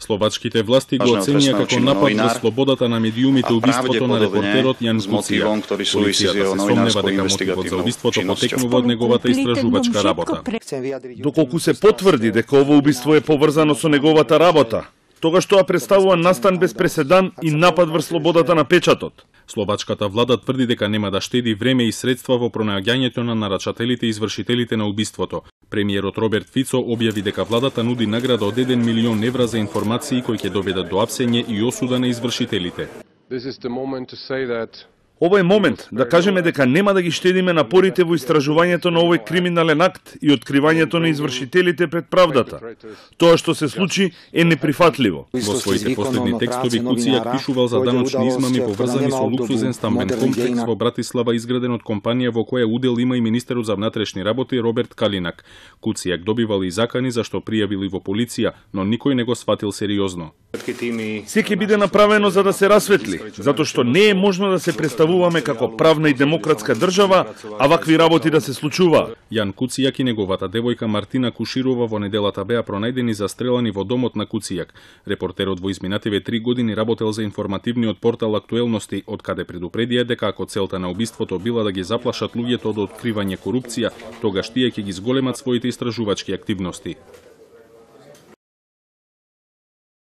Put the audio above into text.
Словачките власти го оценија како напад на слободата на медиумите убиството на репортерот Јан Куцијак. Полицијата се сомнева дека мотивот за убиството потекнува од неговата истражувачка работа. Доколку се потврди дека ово убиство е поврзано со неговата работа, тогаш тоа представува настан без преседан и напад врз слободата на печатот. Словачката влада тврди дека нема да штеди време и средства во пронаѓањето на нарачателите и извршителите на убиството. Премиерот Роберт Фицо објави дека владата нуди награда од 1 милион евра за информации кои ќе доведат до апсење и осуда на извршителите. Ова е момент да кажеме дека нема да ги штедиме напорите во истражувањето на овој криминален акт и откривањето на извршителите пред правдата. Тоа што се случи е неприфатливо. Во своите последни текстови Куцијак пишувал за даночни измами поврзани со луксузен стамбен комплекс во Братислава изграден од компанија во која удел има и министерот за внатрешни работи Роберт Калинак. Куцијак добивал и закани за што пријавили во полиција, но никој не го сфатил сериозно. Се ќе биде направено за да се расветли, затоа што не е можно да се представуваме како правна и демократска држава, а вакви работи да се случуваат. Јан Куцијак и неговата девојка Мартина Куширова во неделата беа пронајдени застрелани во домот на Куцијак. Репортерот во изминативе 3 години работел за информативниот портал Актуелности, од каде предупредија дека ако целта на убиството била да ги заплашат луѓето од откривање корупција, тогаш тие ќе ги зголемат своите истражувачки активности.